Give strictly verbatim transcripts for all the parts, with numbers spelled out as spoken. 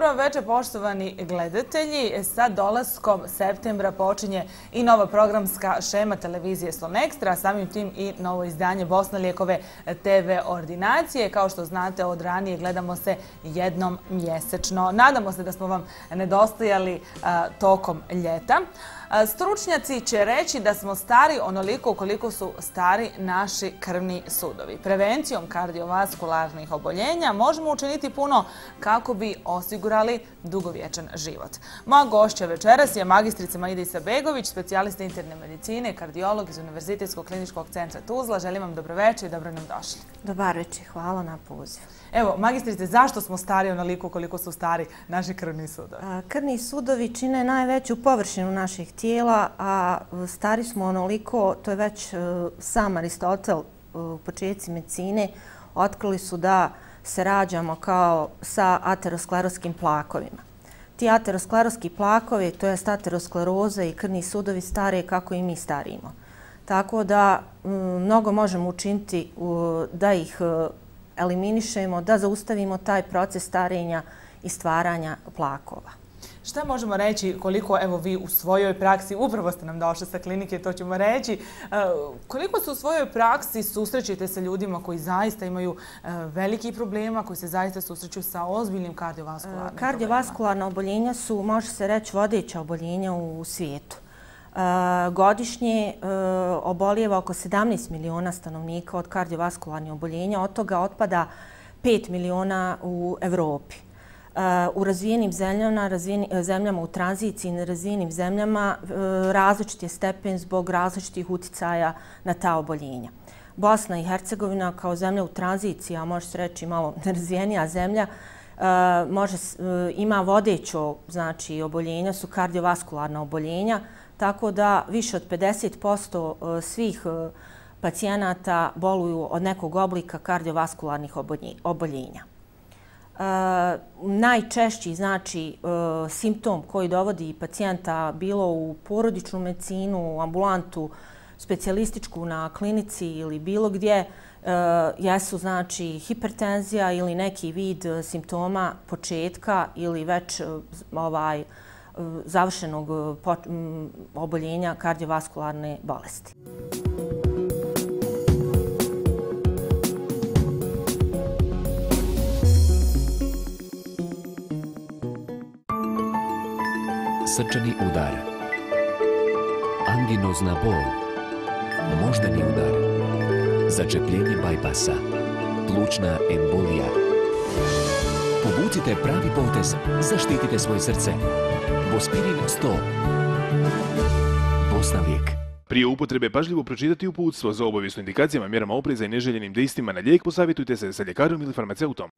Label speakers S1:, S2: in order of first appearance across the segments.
S1: Dobro večer, poštovani gledatelji. Sa dolaskom septembra počinje i nova programska šema televizije Slon Ekstra, samim tim i novo izdanje Bosna lijekove te ve ordinacije. Kao što znate, od ranije gledamo se jednom mjesečno. Nadamo se da smo vam nedostajali a, tokom ljeta. Stručnjaci će reći da smo stari onoliko koliko su stari naši krvni sudovi. Prevencijom kardiovaskularnih oboljenja možemo učiniti puno kako bi osigurali dugovječan život. Moja gošća večeras je magistrica Maida Isabegović, specijalista interne medicine, kardiolog iz Univerzitetskog kliničkog centra Tuzla. Želim vam dobro večer i dobro nam došli.
S2: Dobar večer, hvala na pozivu.
S1: Evo, magistrice, zašto smo stari onoliko koliko su stari naši krvni sudovi?
S2: Krvni sudovi čine najveću površinu naših tijela, a stari smo onoliko, to je već sam Aristotel u početci medicine, otkrili su da se rađamo kao sa ateroskleroskim plakovima. Ti ateroskleroski plakovi, to jest ateroskleroza i krvni sudovi stare kako i mi starimo. Tako da mnogo možemo učiniti da ih eliminišemo, da zaustavimo taj proces starenja i stvaranja plakova.
S1: Šta možemo reći koliko, evo vi u svojoj praksi, upravo ste nam došli sa klinike, to ćemo reći, koliko se u svojoj praksi susrećete sa ljudima koji zaista imaju veliki problema, koji se zaista susreću sa ozbiljnim kardiovaskularnim problemima?
S2: Kardiovaskularna oboljenja su, može se reći, vodeća oboljenja u svijetu. Godišnje obolijeva oko sedamnaest miliona stanovnika od kardiovaskularnih oboljenja, od toga otpada pet miliona u Evropi. U razvijenim zemljama, zemljama u tranziciji i nerazvijenim zemljama različit je stepen zbog različitih uticaja na ta oboljenja. Bosna i Hercegovina kao zemlja u tranziciji, a može se reći malo nerazvijenija zemlja, može, ima vodećo znači, oboljenja, su kardiovaskularna oboljenja, tako da više od pedeset posto svih pacijenata boluju od nekog oblika kardiovaskularnih oboljenja. Najčešći znači, simptom koji dovodi pacijenta bilo u porodičnu medicinu, u ambulantu, specijalističku na klinici ili bilo gdje, jesu znači, hipertenzija ili neki vid simptoma početka ili već ovaj, završenog oboljenja kardiovaskularne bolesti.
S3: Srčani udar, anginozna bol, moždani udar, začepljenje bajpasa, plućna embolija. Povucite pravi potez, zaštitite svoje srce. Bospirin sto. Bosna lijek.
S4: Prije upotrebe pažljivo pročitati uputstvo. Za obavijest o indikacijama, mjerama opreza i neželjenim dejstvima na lijek posavjetujte se sa ljekarom ili farmaceutom.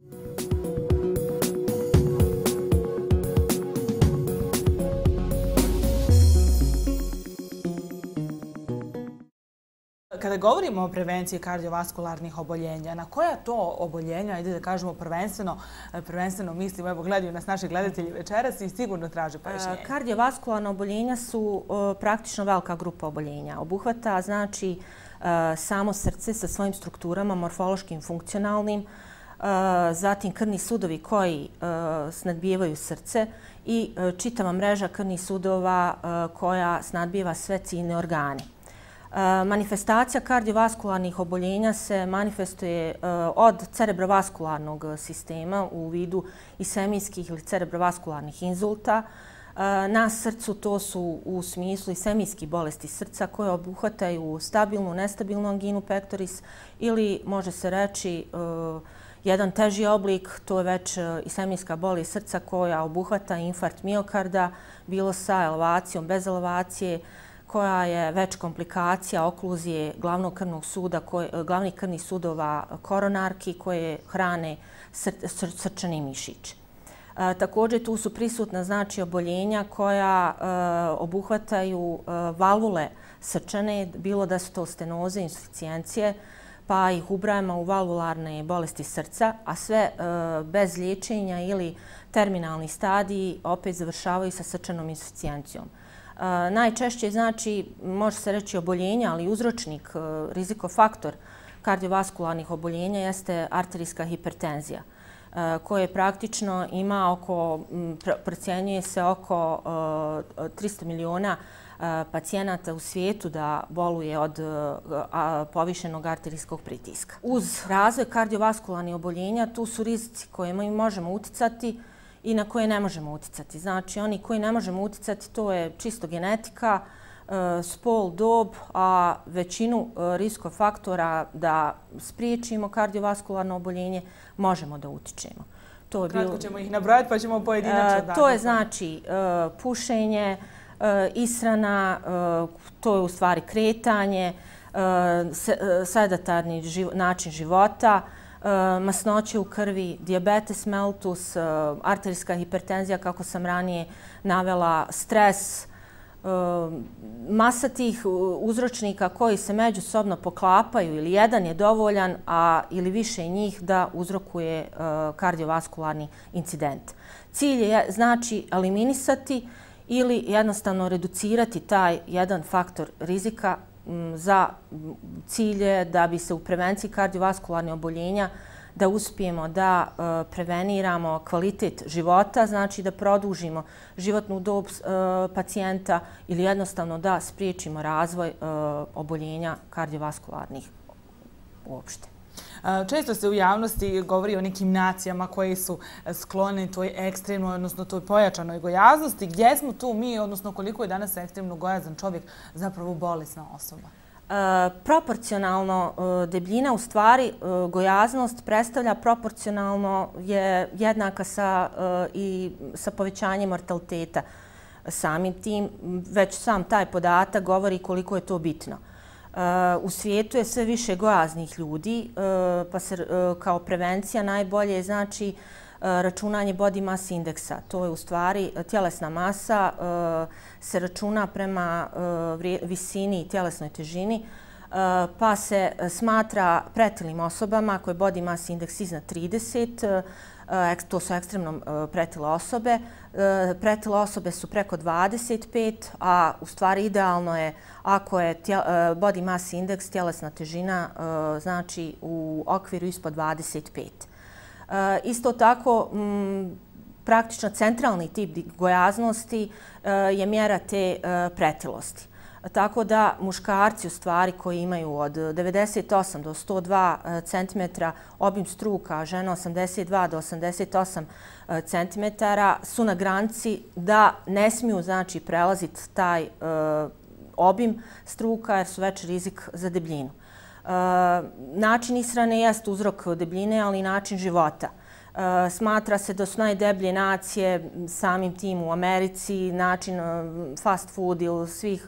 S1: Kada govorimo o prevenciji kardiovaskularnih oboljenja, na koja to oboljenja, ajde da kažemo prvenstveno, prvenstveno mislimo, evo gledaju nas naši gledatelji večeras i sigurno traže pojašnjenje.
S2: Kardiovaskularna oboljenja su praktično velika grupa oboljenja. Obuhvata znači samo srce sa svojim strukturama, morfološkim, funkcionalnim, zatim krvni sudovi koji snadbijevaju srce i čitava mreža krvnih sudova koja snadbijeva sve ciljne organe. Manifestacija kardiovaskularnih oboljenja se manifestuje od cerebrovaskularnog sistema u vidu isemijskih ili cerebrovaskularnih inzulta. Na srcu to su u smislu isemijskih bolesti srca koje obuhvataju stabilnu, nestabilnu anginu pectoris ili može se reći jedan teži oblik, to je već isemijska bolest srca koja obuhvata infarkt miokarda, bilo sa elevacijom, bez elevacije, koja je već komplikacija okluzije glavnog krvnog suda, glavnih krvnih sudova koronarki koje hrane srčani mišić. Također tu su prisutna znači oboljenja koja obuhvataju valvule srčane, bilo da su to stenoze, insuficijencije, pa ih ubrajamo u valvularne bolesti srca, a sve bez liječenja ili terminalni stadiji opet završavaju sa srčanom insuficijencijom. Najčešće znači, može se reći oboljenja, ali uzročnik, rizikofaktor kardiovaskularnih oboljenja jeste arterijska hipertenzija. koje praktično ima oko, procjenjuje se oko tristo miliona pacijenata u svijetu da boluje od povišenog arterijskog pritiska. Uz razvoj kardiovaskularnih oboljenja tu su rizici koje mi možemo uticati i na koje ne možemo uticati. Znači, oni koji ne možemo uticati to je čisto genetika, spol, dob, a većinu riskov faktora da spriječimo kardiovaskularno oboljenje možemo da utičemo.
S1: Kratko ćemo ih nabrojati pa ćemo pojedinačno.
S2: To je znači pušenje, ishrana, to je u stvari kretanje, sedatarni način života, masnoće u krvi, dijabetes mellitus, arterijska hipertenzija, kako sam ranije navela, stres, masa tih uzročnika koji se međusobno poklapaju ili jedan je dovoljan, a ili više njih da uzrokuje kardiovaskularni incident. Cilj je znači eliminisati ili jednostavno reducirati taj jedan faktor rizika za cilje da bi se u prevenciji kardiovaskularnih oboljenja da uspijemo da preveniramo kvalitet života, znači da produžimo životnu dob pacijenta ili jednostavno da spriječimo razvoj oboljenja kardiovaskularnih uopšte.
S1: Često se u javnosti govori o nekim nacijama koji su skloni toj ekstremnoj, odnosno toj pojačanoj gojaznosti. Gdje smo tu mi, odnosno koliko je danas ekstremno gojazan čovjek zapravo bolesna osoba?
S2: Proporcionalno debljina, u stvari gojaznost predstavlja proporcionalno je jednaka sa, i sa povećanjem mortaliteta. Samim tim, već sam taj podatak govori koliko je to bitno. U svijetu je sve više gojaznih ljudi, pa se kao prevencija najbolje znači računanje body mass indeksa. To je u stvari tjelesna masa, se računa prema visini i tjelesnoj težini, pa se smatra pretilim osobama koje body mass indeks iznad trideset, to su ekstremno pretile osobe. Pretile osobe su preko dvadeset pet, a u stvari idealno je ako je body mass indeks, tjelesna težina, znači u okviru ispod dvadeset pet. Isto tako, praktično centralni tip gojaznosti je mjera te pretilosti. Tako da muškarci u stvari koji imaju od devedeset osam do sto dva centimetra obim struka, žena osamdeset dva do osamdeset osam centimetara su na granici da ne smiju znači prelaziti taj obim struka jer su već rizik za debljinu. Način ishrane jest uzrok debljine, ali i način života. Smatra se da su najdeblje nacije samim tim u Americi, način fast food ili svih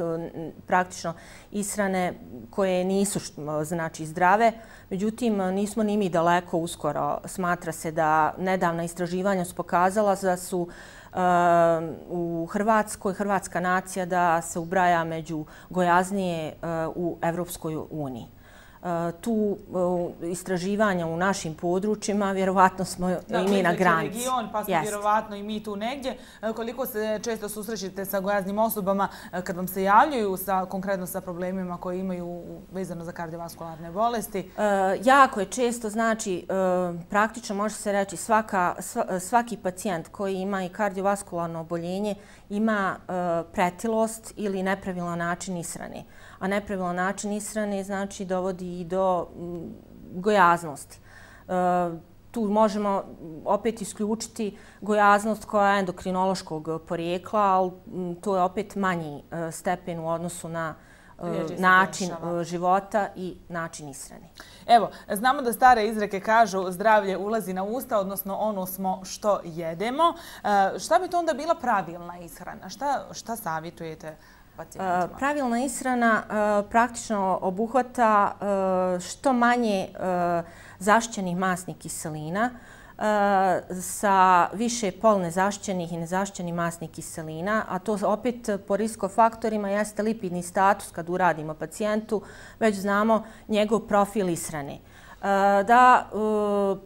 S2: praktično ishrane koje nisu znači zdrave. Međutim, nismo ni mi daleko uskoro. Smatra se da nedavna istraživanja su pokazala da su u Hrvatskoj, hrvatska nacija da se ubraja među gojaznije u Evropskoj uniji. Tu istraživanja u našim područjima, vjerovatno smo i mi na granici.
S1: Region, pa smo vjerovatno i mi tu negdje. Koliko se često susrećete sa gojaznim osobama kad vam se javljaju konkretno sa problemima koje imaju vezano za kardiovaskularne bolesti?
S2: Jako je često, znači praktično može se reći svaki pacijent koji ima i kardiovaskularno oboljenje ima pretilost ili nepravilan način ishrane. A nepravilan način ishrane znači dovodi i do gojaznosti. Tu možemo opet isključiti gojaznost koja je endokrinološkog porijekla, ali to je opet manji stepen u odnosu na način života i način ishrane.
S1: Evo, znamo da stare izreke kažu zdravlje ulazi na usta, odnosno ono smo što jedemo. Šta bi to onda bila pravilna ishrana? Šta savjetujete pacijentima?
S2: Pravilna ishrana praktično obuhvata što manje zaštićenih masnih kiselina sa više polnezaštićenih i nezaštićenih masnih kiselina, a to opet po riskofaktorima jeste lipidni status kad uradimo pacijentu, već znamo njegov profil ishrane. Da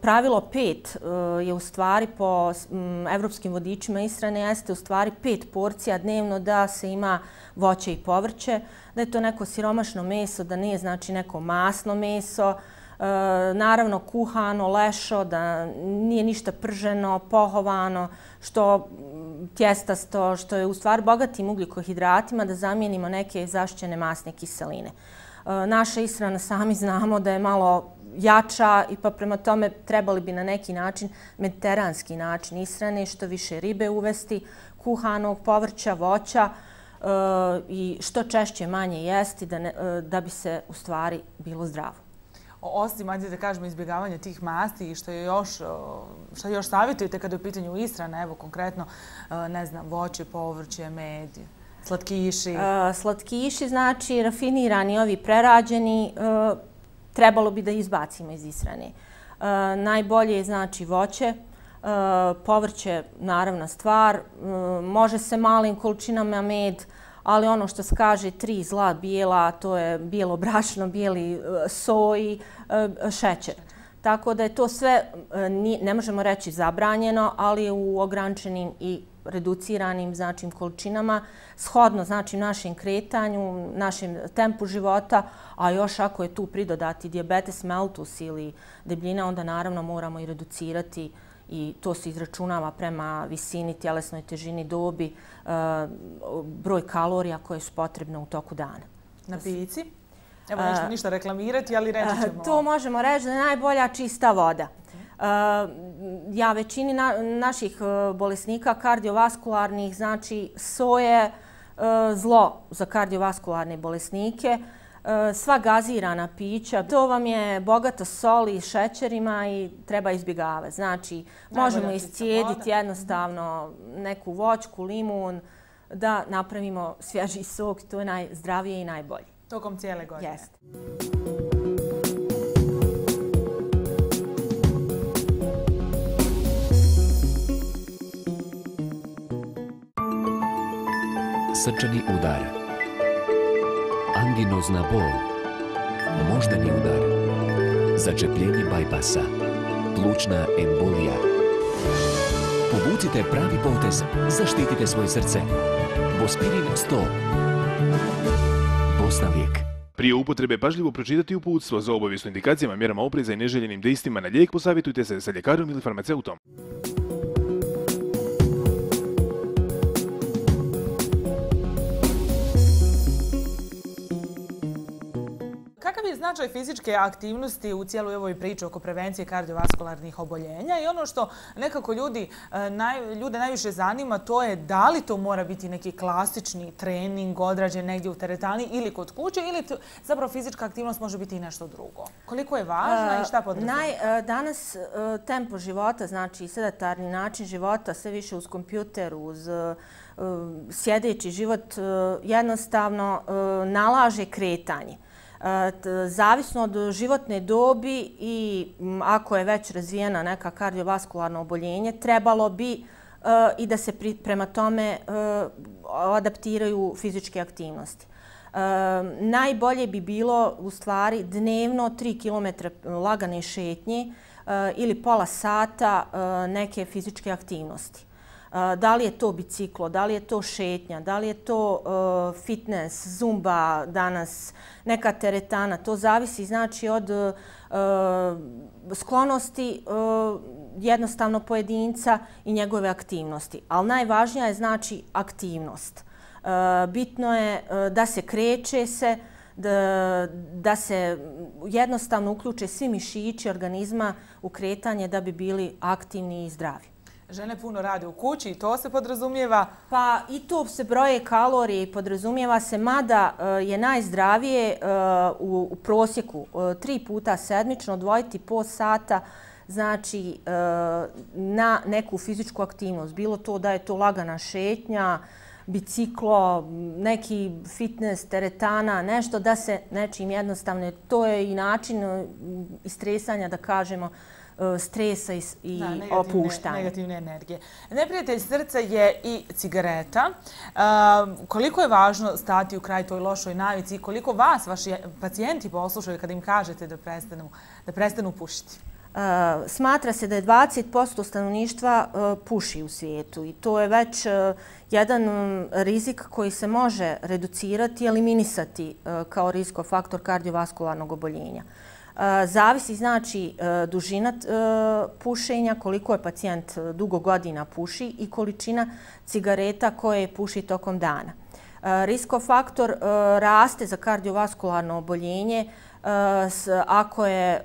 S2: pravilo pet je u stvari po evropskim vodičima ishrane jeste u stvari pet porcija dnevno da se ima voće i povrće, da je to neko siromašno meso, da nije znači neko masno meso, naravno kuhano, lešo, da nije ništa prženo, pohovano, što tjestasto, što je u stvari bogatim ugljikohidratima, da zamijenimo neke zaštićene masne kiseline. Naša ishrana, sami znamo da je malo jača i pa prema tome trebali bi na neki način, mediteranski način ishrane, što više ribe uvesti, kuhanog povrća, voća i što češće manje jesti da bi se u stvari bilo zdravo.
S1: Osim, ajde da kažemo, izbjegavanje tih masti i što je još, što još savjetujete kada je u pitanju ishrana, evo konkretno, ne znam, voće, povrće, med, slatkiši?
S2: Slatkiši, znači rafinirani, ovi prerađeni, trebalo bi da izbacimo iz ishrane. Najbolje je znači voće, povrće naravna stvar, može se malim količinama med, ali ono što se kaže tri zla bijela, to je bijelo brašno, bijeli soj, šećer. Tako da je to sve, ne možemo reći zabranjeno, ali u ograničenim i reduciranim znači količinama, shodno znači našem kretanju, našem tempu života, a još ako je tu pridodati dijabetes mellitus ili debljina, onda naravno moramo i reducirati i to se izračunava prema visini, tjelesnoj težini, dobi, broj kalorija koje su potrebne u toku dana.
S1: Na pici? Evo nešto ništa reklamirati, ali reći ćemo.
S2: To možemo reći da je najbolja čista voda. Ja većini naših bolesnika kardiovaskularnih, znači soje zlo za kardiovaskularne bolesnike, sva gazirana pića, to vam je bogato soli, šećerima i treba izbjegavati. Znači, možemo iscijediti jednostavno neku voćku, limun, da napravimo svježi sok, to je najzdravije i najbolje.
S1: Tokom cijele godine?
S2: Jeste.
S3: Srčani udar, anginozna bol, moždani udar, začepljenje bajpasa, plućna embolija. Povucite pravi potez, zaštitite svoje srce. Bospirin sto. Bosna lijek.
S4: Prije upotrebe pažljivo pročitati uputstvo. Za obavijesno indikacijama, mjerama opreza i neželjenim dejstvima na lijek posavjetujte se sa ljekarom ili farmaceutom.
S1: Kakav je značaj fizičke aktivnosti u cijeloj ovoj priči oko prevencije kardiovaskularnih oboljenja i ono što nekako ljudi, naj, ljude najviše zanima, to je da li to mora biti neki klasični trening odrađen negdje u teretani ili kod kuće ili to, zapravo fizička aktivnost može biti i nešto drugo. Koliko je važna i šta podrazumijeva?
S2: Naj, danas tempo života, znači sedentarni način života, sve više uz kompjuter, uz sjedeći život, jednostavno nalaže kretanje. Zavisno od životne dobi i ako je već razvijena neka kardiovaskularno oboljenje, trebalo bi i da se prema tome adaptiraju fizičke aktivnosti. Najbolje bi bilo u stvari dnevno tri kilometra lagane šetnje ili pola sata neke fizičke aktivnosti. Da li je to biciklo, da li je to šetnja, da li je to fitness, zumba danas, neka teretana. To zavisi znači od sklonosti jednostavno pojedinca i njegove aktivnosti. Ali najvažnija je znači aktivnost. Bitno je da se kreće se, da, da se jednostavno uključe svi mišići organizma u kretanje da bi bili aktivni i zdravi.
S1: Žene puno rade u kući i to se podrazumijeva?
S2: Pa i to se broje kalorije i podrazumijeva se, mada je najzdravije u, u prosjeku tri puta sedmično odvojiti po sata znači na neku fizičku aktivnost. Bilo to da je to lagana šetnja, biciklo, neki fitness, teretana, nešto da se nečim jednostavno, to je i način istresanja, da kažemo, stresa i, i da, negativne, opuštanja.
S1: Negativne energije. Neprijatelj srca je i cigareta. Uh, koliko je važno stati u kraj toj lošoj navici i koliko vas, vaši pacijenti poslušaju kada im kažete da prestanu, da prestanu pušiti?
S2: Uh, smatra se da je dvadeset posto stanovništva uh, puši u svijetu i to je već uh, jedan um, rizik koji se može reducirati i eliminisati uh, kao riskofaktor kardiovaskularnog oboljenja. Zavisi znači dužina pušenja, koliko je pacijent dugo godina puši i količina cigareta koje puši tokom dana. Riskofaktor raste za kardiovaskularno oboljenje ako je,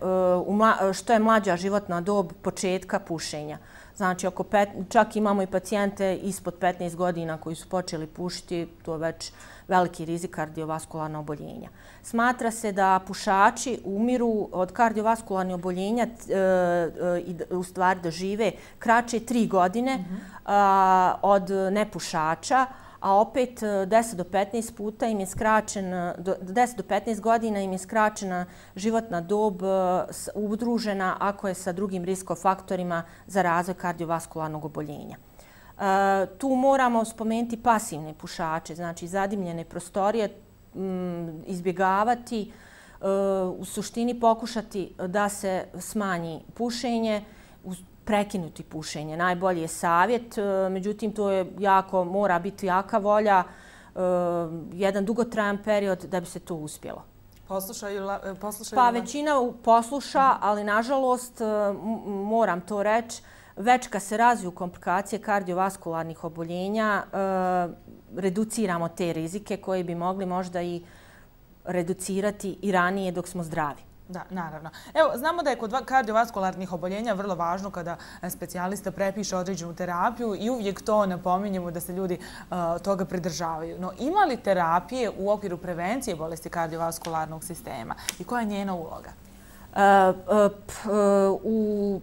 S2: što je mlađa životna dob početka pušenja. Znači, oko pet, čak imamo i pacijente ispod petnaest godina koji su počeli pušiti, to je već veliki rizik kardiovaskularnog oboljenja. Smatra se da pušači umiru od kardiovaskularnih oboljenja i u stvari dožive kraće tri godine mm-hmm. od nepušača, a opet deset do petnaest puta im je skraćen, deset do petnaest godina im je skraćena životna dob udružena ako je sa drugim riskofaktorima za razvoj kardiovaskularnog oboljenja. Tu moramo spomenuti pasivne pušače, znači zadimljene prostorije, izbjegavati, u suštini pokušati da se smanji pušenje, prekinuti pušenje. Najbolji je savjet, međutim to je jako, mora biti jaka volja, jedan dugotrajan period da bi se to uspjelo.
S1: Poslušaju, poslušaju
S2: pa većina posluša, ali nažalost moram to reći, već kad se razviju komplikacije kardiovaskularnih oboljenja, reduciramo te rizike koje bi mogli možda i reducirati i ranije dok smo zdravi.
S1: Da, naravno. Evo, znamo da je kod kardiovaskularnih oboljenja vrlo važno kada specijalista prepiše određenu terapiju i uvijek to napominjemo da se ljudi uh, toga pridržavaju. No, ima li terapije u okviru prevencije bolesti kardiovaskularnog sistema i koja je njena uloga?
S2: Uh, uh, p, uh, u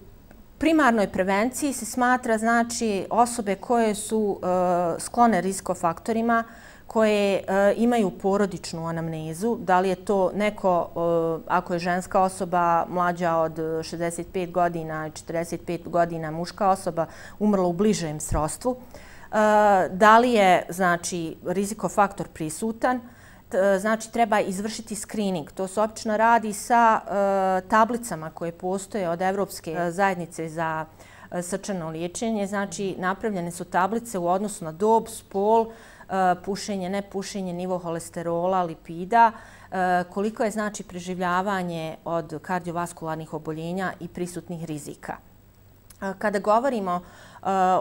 S2: primarnoj prevenciji se smatra znači osobe koje su uh, sklone riskofaktorima, koje e, imaju porodičnu anamnezu, da li je to neko, e, ako je ženska osoba mlađa od šezdeset pet godina i četrdeset pet godina, muška osoba umrla u bližem srodstvu, e, da li je znači, rizikofaktor prisutan, t, znači treba izvršiti screening. To se obično radi sa e, tablicama koje postoje od Evropske zajednice za e, srčano liječenje, znači napravljene su tablice u odnosu na dob, spol, pušenje, nepušenje, nivo holesterola, lipida, koliko je znači preživljavanje od kardiovaskularnih oboljenja i prisutnih rizika. Kada govorimo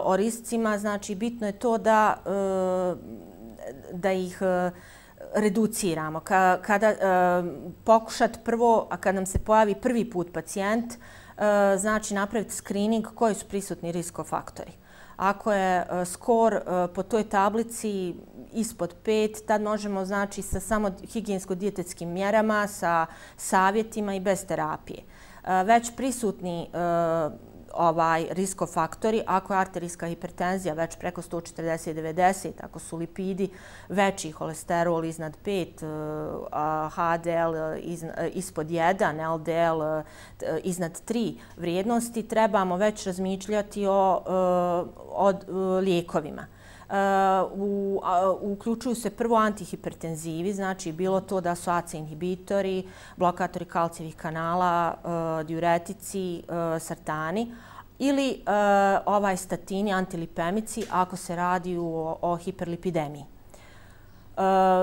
S2: o rizicima, znači bitno je to da, da ih reduciramo. Kada pokušati prvo, a kad nam se pojavi prvi put pacijent, znači napraviti screening koji su prisutni riskofaktori. Ako je skor po toj tablici ispod pet, tad možemo znači sa samo higijensko-dijetetskim mjerama, sa savjetima i bez terapije. Već prisutni ovaj riskofaktori, ako je arterijska hipertenzija već preko sto četrdeset do devedeset, ako su lipidi veći, holesterol iznad pet, H D L ispod jedan, L D L iznad tri vrijednosti, trebamo već razmišljati o, o lijekovima. U, uključuju se prvo antihipertenzivi, znači bilo to da su A C E inhibitori, blokatori kalcijevih kanala, diuretici, sartani ili ovaj statini, antilipemici ako se radi o, o hiperlipidemiji.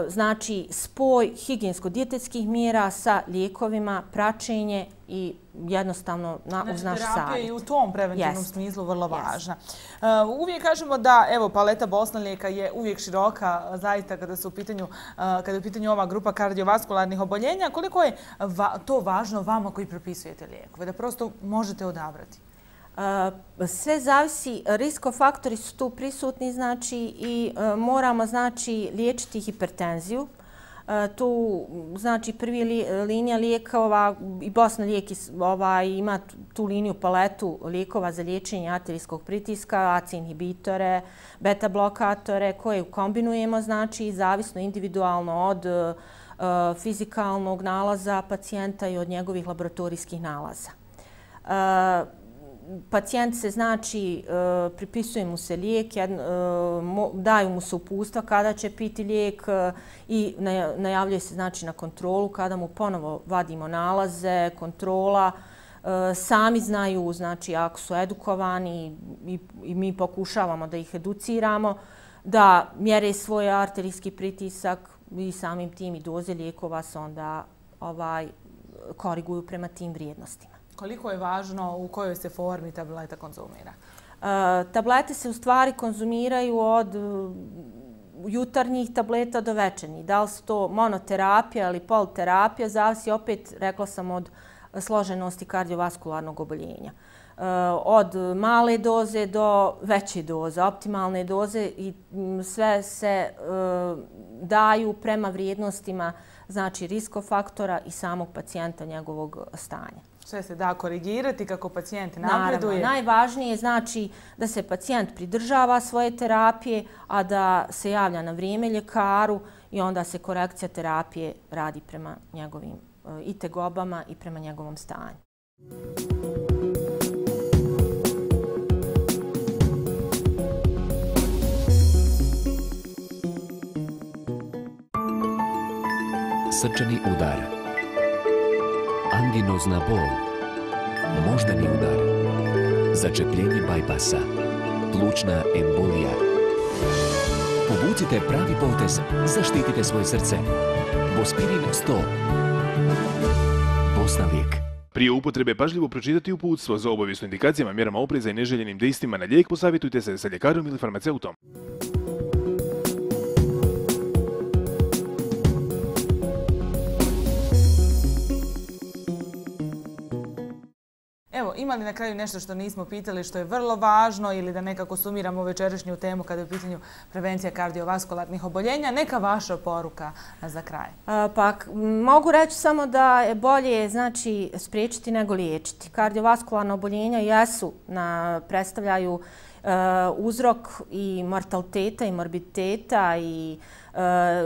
S2: Znači spoj higijensko-dijetetskih mjera sa lijekovima, praćenje i jednostavno na, uz naš savjet.
S1: Znači terapija je i u tom preventivnom yes. smislu vrlo yes. važna. Uh, uvijek kažemo da evo paleta Bosnalijeka je uvijek široka, zaista kada su u pitanju, uh, kada je u pitanju ova grupa kardiovaskularnih oboljenja. Koliko je va to važno vama koji propisujete lijekove, da prosto možete odabrati?
S2: Uh, sve zavisi, riskofaktori su tu prisutni, znači i uh, moramo znači liječiti hipertenziju. Uh, tu znači prvi li, linija lijekova i Bosna lijek ovaj, ima tu liniju paletu lijekova za liječenje arterijskog pritiska, A C E inhibitore, beta blokatore koje kombinujemo znači zavisno individualno od uh, fizikalnog nalaza pacijenta i od njegovih laboratorijskih nalaza. Uh, Pacijent se znači, pripisuje mu se lijek, daju mu se uputstva kada će piti lijek i najavljuje se znači na kontrolu kada mu ponovo vadimo nalaze, kontrola. Sami znaju, znači ako su edukovani i mi pokušavamo da ih educiramo, da mjere svoj arterijski pritisak i samim tim i doze lijekova se onda ovaj, koriguju prema tim vrijednostima.
S1: Koliko je važno u kojoj se formi tableta konzumira?
S2: Tablete se u stvari konzumiraju od jutarnjih tableta do večernjih. Da li su to monoterapija ili polterapija, zavisi opet, rekla sam, od složenosti kardiovaskularnog oboljenja. Od male doze do veće doze, optimalne doze i sve se daju prema vrijednostima, znači riskofaktora i samog pacijenta, njegovog stanja.
S1: Sve se da korigirati kako pacijent napreduje.
S2: Naravno, najvažnije je znači da se pacijent pridržava svoje terapije, a da se javlja na vrijeme ljekaru i onda se korekcija terapije radi prema njegovim i tegobama i prema njegovom stanju.
S3: Srčani udar, anginozna bol, moždani udar, začepljenje bajpasa, plućna embolija. Povucite pravi potez, zaštitite svoje srce. Bospirin sto. Bosna lijek.
S4: Prije upotrebe pažljivo pročitati uputstvo. Za obavijesno indikacijama, mjerama opreza i neželjenim dejstvima na lijek posavjetujte se sa ljekarom ili farmaceutom.
S1: Evo, ima li na kraju nešto što nismo pitali, što je vrlo važno ili da nekako sumiramo večerašnju temu kada je u pitanju prevencija kardiovaskularnih oboljenja? Neka vaša poruka za kraj.
S2: Pa, mogu reći samo da je bolje znači, spriječiti nego liječiti. Kardiovaskularna oboljenja jesu, na, predstavljaju uh, uzrok i mortaliteta i morbiditeta i uh,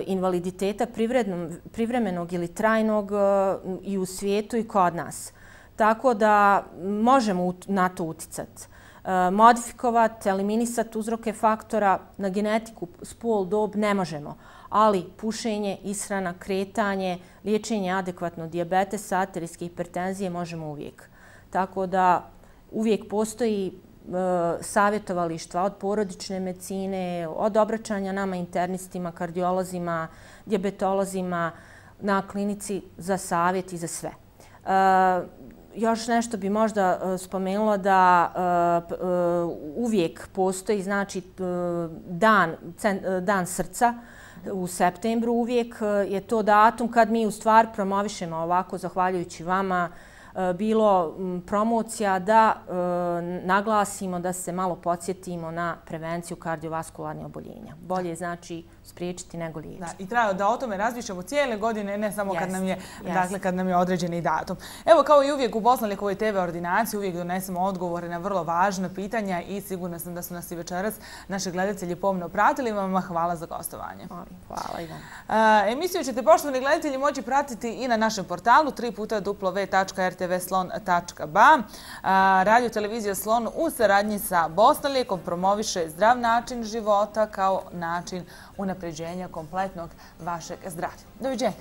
S2: invaliditeta privremenog ili trajnog uh, i u svijetu i kod nas. Tako da možemo na to uticati. Modifikovati, eliminisati uzroke faktora na genetiku, spol, dob ne možemo. Ali pušenje, ishrana, kretanje, liječenje adekvatno dijabetesa, arterijske hipertenzije možemo uvijek. Tako da uvijek postoji savjetovalištva od porodične medicine, od obraćanja nama internistima, kardiolozima, dijabetolozima na klinici za savjet i za sve. Još nešto bi možda spomenula da uvijek postoji znači dan, dan srca u septembru. Uvijek je to datum kad mi u stvari promovišemo ovako, zahvaljujući vama, bilo promocija da naglasimo, da se malo podsjetimo na prevenciju kardiovaskularnih oboljenja. Bolje znači spriječiti nego liječiti.
S1: Da, i treba da o tome razmišljamo cijele godine, ne samo kad nam je,
S2: yes.
S1: dakle, kad nam je određeni datum. Evo, kao i uvijek u Bosna lijekovoj te ve ordinaciji uvijek donesemo odgovore na vrlo važna pitanja i sigurna sam da su nas i večeras naši gledatelji pomno pratili. Vama hvala za gostovanje.
S2: Hvala i vam.
S1: Uh, emisiju ćete, poštovani gledatelji, moći pratiti i na našem portalu tri puta w w w tačka r t v slon tačka b a. Uh, Radio televizija Slon u saradnji sa Bosna lijekom promoviše zdrav način života kao način unapređenja kompletnog vašeg zdravlja. Doviđenja.